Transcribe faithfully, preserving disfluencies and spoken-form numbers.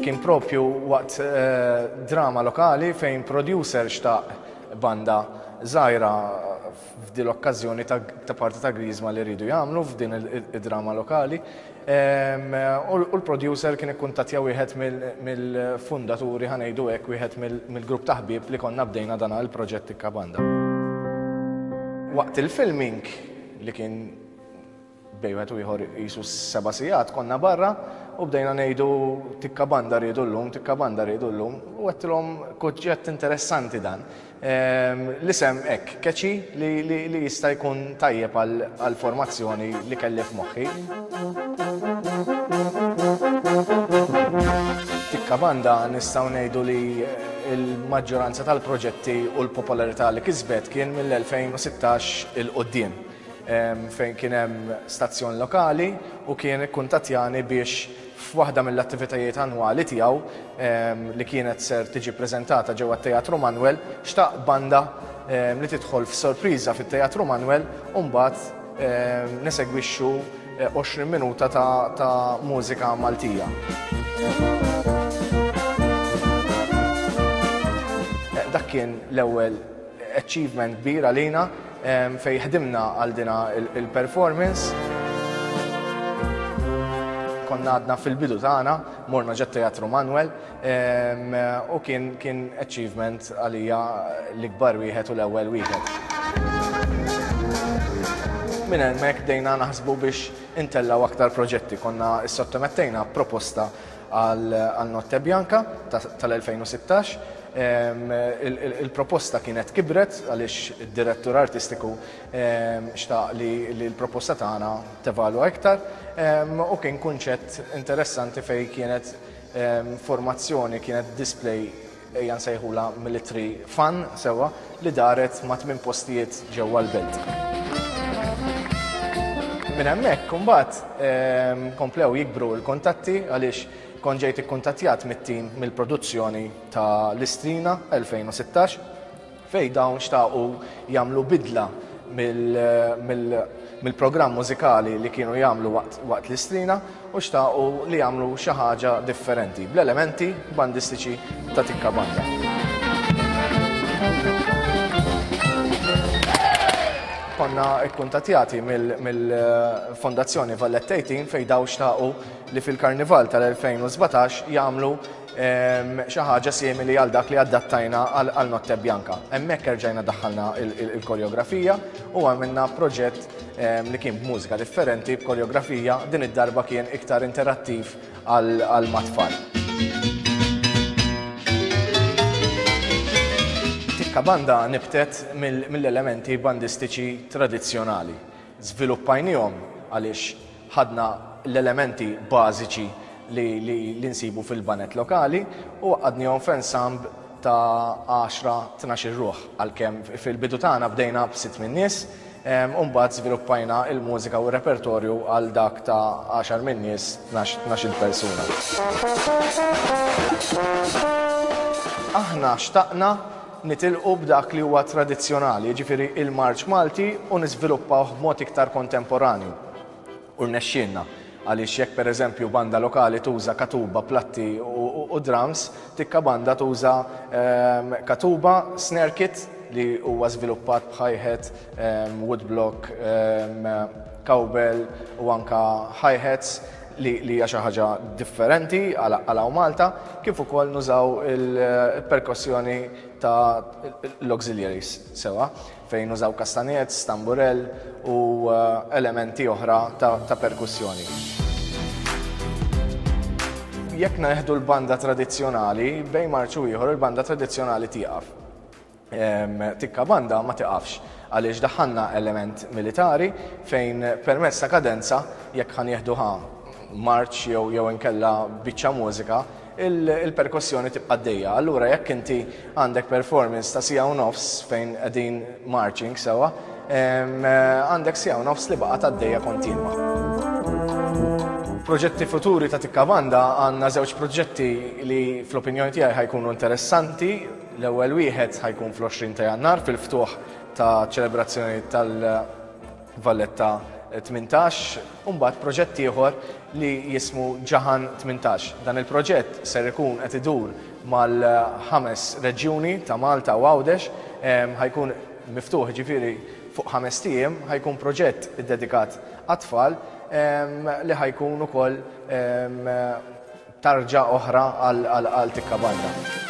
Kien propju waqt eh, drama lokali fejn producer xtaq banda żgħira f'din l-okkażjoni ta', ta parti ta' Griżma li rridu jagħmlu f'din id-drama lokali. U l-producer kien ikkuntattja wieħed mill-fundaturi, ħa ngħidu hekk, wieħed mill-grupp ta' ħbieb li konna bdejna dan il-proġett Tikka Banda. Waqt il-filming, li kien bejn wieħed u ieħor qisu seba' sigħat, konna barra u bdejna ngħidu: "Tikka Banda rridu llum, Tikka Banda rridu llum", u għedtilhom kunċett interessanti dan. L-isem hekk, catchy, li jista' jkun tajjeb għal-formazzjoni li kelli f'moħħi. Tikka Banda nistgħu ngħidu li l-maġġoranza tal-proġetti u l-popolarità li kisbet kien mill-elfejn u sittax 'il quddiem, fejn kien hemm stazzjon lokali u kien ikkuntattjani biex f'waħda mill-attivitajiet annwali tiegħu li kienet ser tiġi preżentata ġewwa Teatru Manuel, xtaq banda li tidħol f'sorpriża fit-Teatru Manuel u mbagħad nesegwixxu għoxrin minuta ta', ta mużika Maltija. Dak kien l-ewwel achievement kbir għalina fej ħdimna għal dina il-performance. Konna għadna fil-bidu tagħna, morna ġo Teatru Manuel u kien kien achievement għalija l-ikbar wieħed u l-ewwel wieħed. Minn hemmhekk bdejna naħsbu biex intellaw aktar proġetti. Konna issottomettejna proposta għal Notte Bianca tal-elfejn u sittax. Il-proposta kienet kibret għaliex id-direttur artistiku xtaq li l-proposta tagħna tevalwa iktar u kien kunċett interessanti fej kienet formazzjoni, kienet display, ejja nsejħula military fun sewa, li daret ma' tmien postijiet ġewwa l-belt. Minn hemmhekk imbagħad komplew jikbru l-kontatti għaliex kont ġejt ikkuntattjat mit-tim mill-produzzjoni ta' l-Istrina elfejn u sittax, fej dawn xtaqu jagħmlu bidla mill-programm mużikali li kienu jagħmlu waqt l-Istrina u xtaqu li jagħmlu xi ħaġa differenti bl-elementi bandistiċi ta' Tikka Banda. Konna ikkuntattjati mill-Fondazzjoni Valletta tmintax fej daw xtaqu li fil-Karnival tal-elfejn u sbatax jagħmlu xi ħaġa simili għal dak li adattajna għal Notte Bianca. Hemmhekk erġajna daħħalna il-koreografija u għamilna proġett li kien b'mużika differenti, b'koreografija, din id-darba kien iktar interattiv għal mat-tfal. Tikka Banda nibtet mill-elementi bandistiċi tradizzjonali. Żviluppajnihom għaliex ħadna l-elementi bażiċi li, li, li nsibu fil-baned lokali u għaqqadnihom f'ensemble ta' għaxra tnax ruħ, għalkemm fil-bidu tagħna bdejna b'sitt min nies u mbagħad żviluppajna il-mużika u r-repertorju għal dak ta' għaxar min nies, tnax-il persuna. Aħna xtaqna nitilqu b'dak li huwa tradizzjonali, jiġifieri il-marċ Malti, u niżviluppaw b'mod iktar kontemporanju. U rnexxielna, għaliex jekk per eżempju banda lokali tuża katuba, platti u, u drums, Tikka Banda tuża um, katuba, snare kit li huwa żviluppat b'hi-hat, um, woodblock, um, cowbell u anka hi-hats li li hija xi ħaġa differenti għal hawn Malta, kif ukoll nużaw il-perkussjoni ta' l-auxiliaries sewa, fejn nużaw kastanets, tamburell u elementi oħra ta', ta perkussjoni. Jekk nieħdu l-banda tradizzjonali, bejn marċ u ieħor il-banda tradizzjonali tieqaf. Tikka Banda ma tiqafx għaliex daħħalna element militari fejn permezz ta' kadenza, jekk ħa nieħduha marċ jew jew inkella biċċa mużika, il-perkussjoni tibqa' għaddejja. Allura jekk inti għandek performance ta' siegħa u nofs fejn qegħdin marching sewa, għandek siegħa u nofs li baqgħet għaddejja kontinwa. Proġetti futuri ta' Tikka Banda: għandna żewġ proġetti li fl-opinjoni tiegħi ħa jkunu interessanti. L-ewwel wieħed ħa jkun fl-għoxrin ta' Jannar fil-ftuħ ta' ċelebrazzjoni tal-Valletta tmintax, u mbagħad proġett ieħor li jismu Ġaħan tmintax. Dan il-proġett ser ikun qed idur mal-ħames reġjuni ta' Malta u Għawdex, ħa jkun miftuħ ġifieri fuq ħamest ijiem, ħa jkun proġett iddedikat għat-tfal li ħa jkun ukoll tarġa oħra għal Tikka Banda.